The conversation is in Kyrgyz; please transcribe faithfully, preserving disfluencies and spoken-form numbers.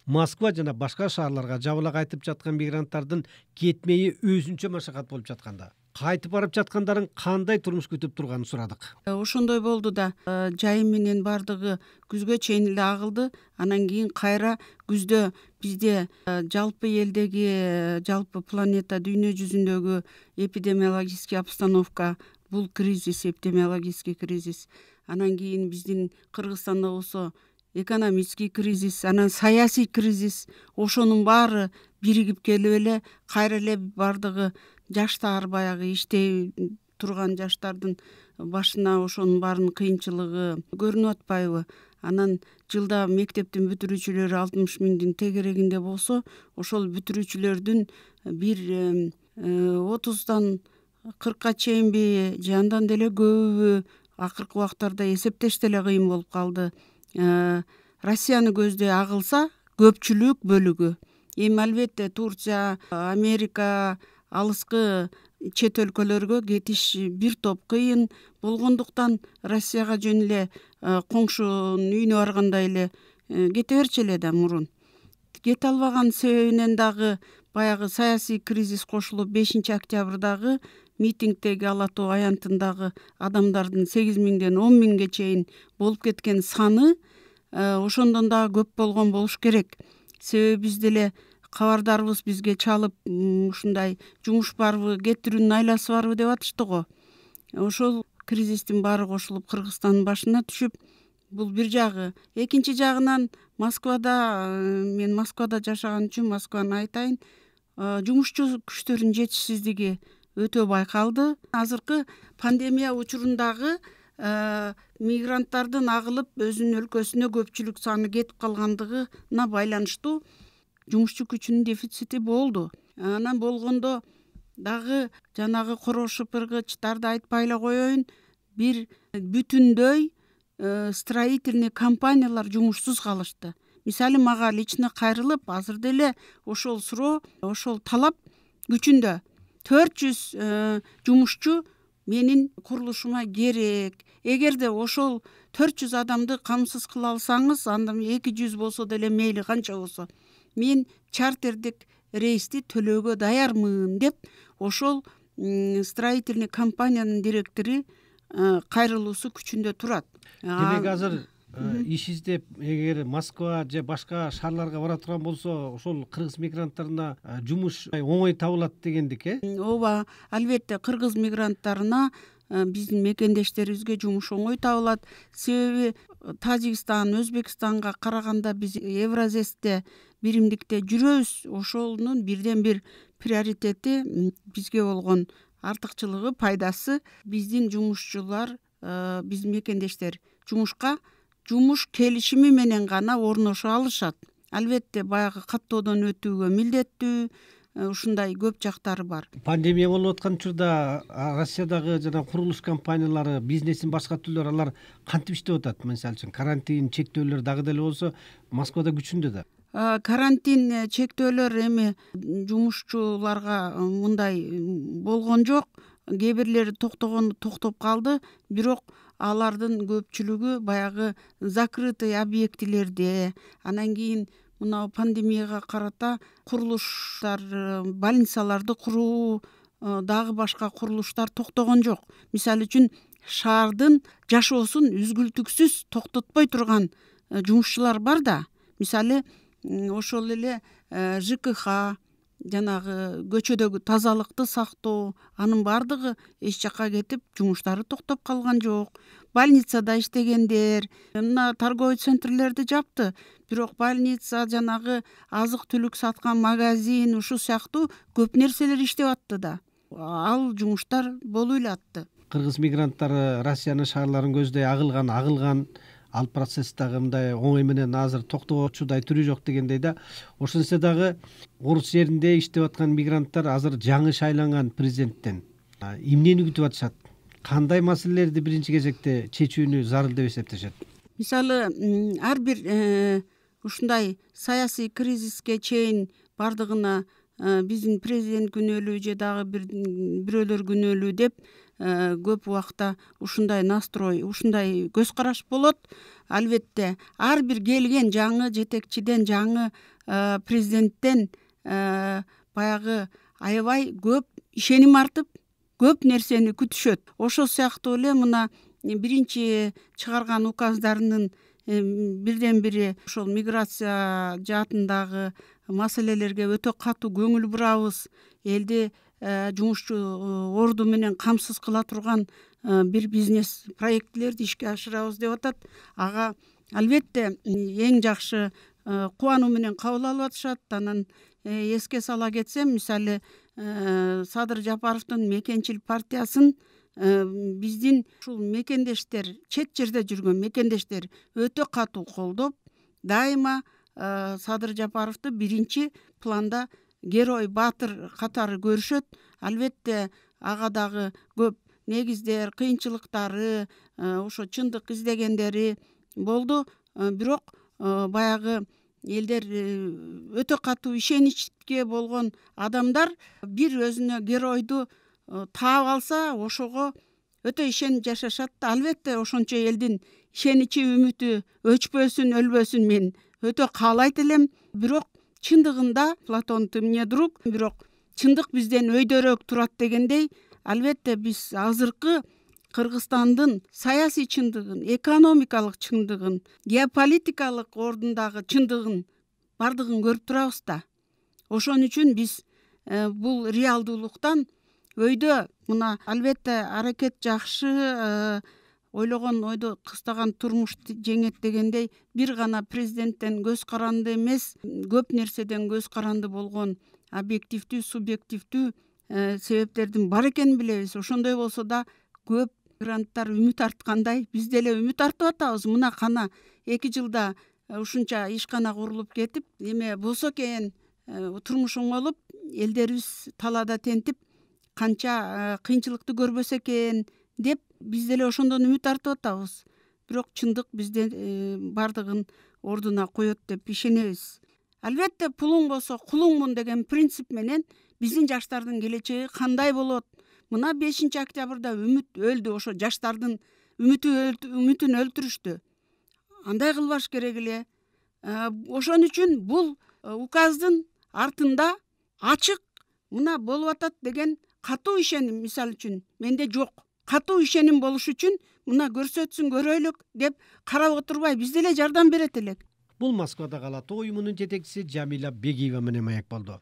Москва жана башка шаарларга жабыла кайтып жаткан мигранттардын кетмеyi өзүнчө машакат болуп жатканда кайтып барып жаткандарын кандай турмуш күтүп турганын сурадык. Ошондой болду да. Жайым менен бардыгы күзгө чейин эле агылды. Анан кийин кайра күздө бизде жалпы элдеги, жалпы планета дүйнө жүзүндөгү эпидемиологический обстановка, бул кризис, эпидемиологический кризис. Анан кийин биздин Кыргызстанда болсо экономический кризис, анан саясий кризис. Ошонун баары биригип келип эле кайра эле бардыгы жаштар, баягы иштей турган жаштардын башына ошонун баарынын кыйынчылыгы көрүнүп атпайбы? Анан жылда мектептин бүтүрүүчүлөрү алтымыш миңдин тегерегинде болсо, ошол бүтүрүүчүлөрдүн бир отуздан кыркка чейинби же андан деле көбүбү акыркы убактарда эсептеш деле кыйын болуп калды. Россияны көздөй агылса көпчүлүк бөлүгү. Эми албетте Турция, Америка, алыскы чет өлкөлөргө кетиш бир топ кыйын болгондуктан Россияга жөн эле коңшунун үйүнө баргандай эле кете берчү эле да мурун. Кете албаган себебинен дагы баягы саясий кризис кошулуп, бешинчи октябрдагы митингдеги Ала Тоо аянтындагы адамдардын сегиз миңден он миңге чейин болуп кеткен саны ошондон дагы көп болгон болуш керек. Себеби биз деле кабардарбыз, бизге чалып ушундай жумуш барбы, кетирүүнүн айласы барбы деп атышты го. Ошол кризистин баары кошулуп Кыргызстандын башына түшүп, бул бир жагы. Экинчи жагынан Москвада, мен Москвада жашаган үчүн Москваны айтайын, жумушчу күчтөрдүн жетишсиздиги өтө байкалды. Азыркы пандемия учурундагы мигранттардын агылып өзүнүн өлкөсүнө көпчүлүк саны кетип калгандыгына байланыштуу жумушчу күчүнүн дефицити болду. Анан болгондо дагы жанагы корошупыргычтарды айтпай эле коеюн, бир бүтүндөй строительный компаниялар жумушсуз калышты. Мисалы мага лично кайрылып, азыр деле ошол суроо, ошол талап күчүндө. төрт жүз жумушчу менин курулушума керек. Эгерде ошол төрт жүз адамды камсыз кыла алсаңыз, анда эки жүз болсо деле мейли канча болсо, мен чартердик рейсти төлөөгө даярмын деп ошол строительный компаниянын директору кайрылуусу күчүндө турат. Демек азыр иш издеп, эгер Москва же башка шаарларга бара турган болсо, ошол кыргыз мигранттарына жумуш оңой табылат дегендик, э? Ооба, албетте кыргыз мигранттарына, биздин мекендештерибизге жумуш оңой табылат. Себеби Тажикстан, Өзбекстанга караганда биз Евразесте, биримдикте жүрөбүз. Ошонун бирден бир приоритети, бизге болгон артыкчылыгы, пайдасы, биздин жумушчулар, биздин мекендештер жумушка жумуш келишими менен гана орношо алышат. Албетте баягы каттоодон өтүүгө милдеттүү, ушундай көп жактары бар. Пандемия болуп аткан учурда Россиядагы жана курулуш компаниялары, бизнестин башка түрлөрү алар кантип иштеп атат? Мисалы үчүн карантин чектөөлөр дагы деле болсо Москвада күчүндө да. Карантин чектөөлөр эми жумушчуларга мындай болгон жок. Кээ бирлери токтогон токтоп калды, бирок алардын көпчүлүгү баягы закрытый объектилерде, анан кийин мына пандемияга карата курулуштар, больницаларды куруу, дагы башка курулуштар токтогон жок. Мисалы үчүн шаардын жашоосун үзгүлтүксүз токтотпой турган жумушчулар бар да. Мисалы ошол эле ЖКХ, жанагы көчөдөгү тазалыкты сактоо, анын баардыгы эч жакка кетип, жумуштары токтоп калган жок. Больницада иштегендер, мына торговый центрлерди жапты, бирок больница, жанагы азык-түлүк саткан магазин, ушул сыяктуу көп нерселер иштеп атты да. Ал жумуштар болуп эле атты. Кыргыз мигранттары Россиянын шаарларын көздөй агылган, агылган, ал процесс дагы мындай оңой менен азыр токтогочудай түрү жок дегендей да. Ошентсе дагы Орус жеринде иштеп аткан мигранттар азыр жаңы шайланган президенттен эмнени күтүп атышат? Кандай маселелерди биринчи кезекте чечүүнү зарыл деп эсептешет? Мисалы, ар бир ушундай саясий кризиске чейин бардыгына биздин президент күнөөлүү же дагы бирөөлөр күнөөлүү деп көп убакта ушундай настрой, ушундай көз караш болот. Албетте ар бир келген жаңы жетекчиден, жаңы президенттен баягы аябай көп ишеним артып, көп нерсени күтүшөт. Ошол сыяктуу эле мына биринчи чыгарган указдарынын бирден бири ошол миграция жаатындагы маселелерге өтө катуу көңүл бурабыз. Элди жумушчу орду менен камсыз кыла турган бир бизнес проектилерди ишке ашырабыз деп атат. Ага албетте эң жакшы кубануу менен кабыл алып атышат. Анан эске сала кетсем, мисалы Садыр Жапаровдун Мекенчил партиясын биздин ушул мекендештер, чет жерде жүргөн мекендештер өтө катуу колдоп, дайыма Садыр Жапаровду биринчи планда герой, баатыр катары көрүшөт. Албетте ага дагы көп негиздер, кыйынчылыктары, ошо чындык издегендери болду. Бирок баягы элдер өтө катуу ишеничке болгон адамдар бир өзүнө геройду таап алса, ошого өтө ишенип жашашат. Албетте ошончо элдин ишеничи, үмүтү өчпөсүн, өлбөсүн мен өтө каалайт элем. Бирок чындыгында Платон тымне друг, бирок чындык бизден өйдөрөөк турат дегендей, албетте биз азыркы Кыргызстандын саясий чындыгын, экономикалык чындыгын, геополитикалык ордундагы чындыгын бардыгын көрүп турабыз да. Ошон үчүн биз бул реалдуулуктан өйдө мына албетте аракет жакшы, ойлогон ойдо кыстаган турмуш жеңет дегендей, бир гана президенттен көз каранды эмес, көп нерседен көз каранды болгон объективдүү, субъективдүү себептердин бар экенин билебиз. Ошондой болсо да көп мигранттар үмүт арткандай, биз деле үмүт артып атабыз. Мына кана эки жылда ушунча ишкана курулуп кетип, эме болсо экен, турмуш оңолуп, элдерибиз талаада тентип, канча кыйынчылыкты көрбөсө экен деп биз деле ошондон үмүт артып атабыз. Бирок чындык бизде бардыгын ордуна коет деп ишенебиз. Албетте пулуң болсо кулуңмун деген принцип менен биздин жаштардын келечеги кандай болот? Мына бешинчи октябрда үмүт өлдү, ошо жаштардын үмүтүн өлтүрүштү. Андай кылбаш керек эле. Ошон үчүн бул указдын артында ачык мына болуп атат деген катуу ишеним, мисалы үчүн менде жок. Катуу ишеним болуш үчүн мына көрсөтсүн, көрөйлүк деп карап отурбай биз деле жардам берет элек. Бул Москвада калат уюмунун жетекчиси Жамиля Бегиева менен маек болду.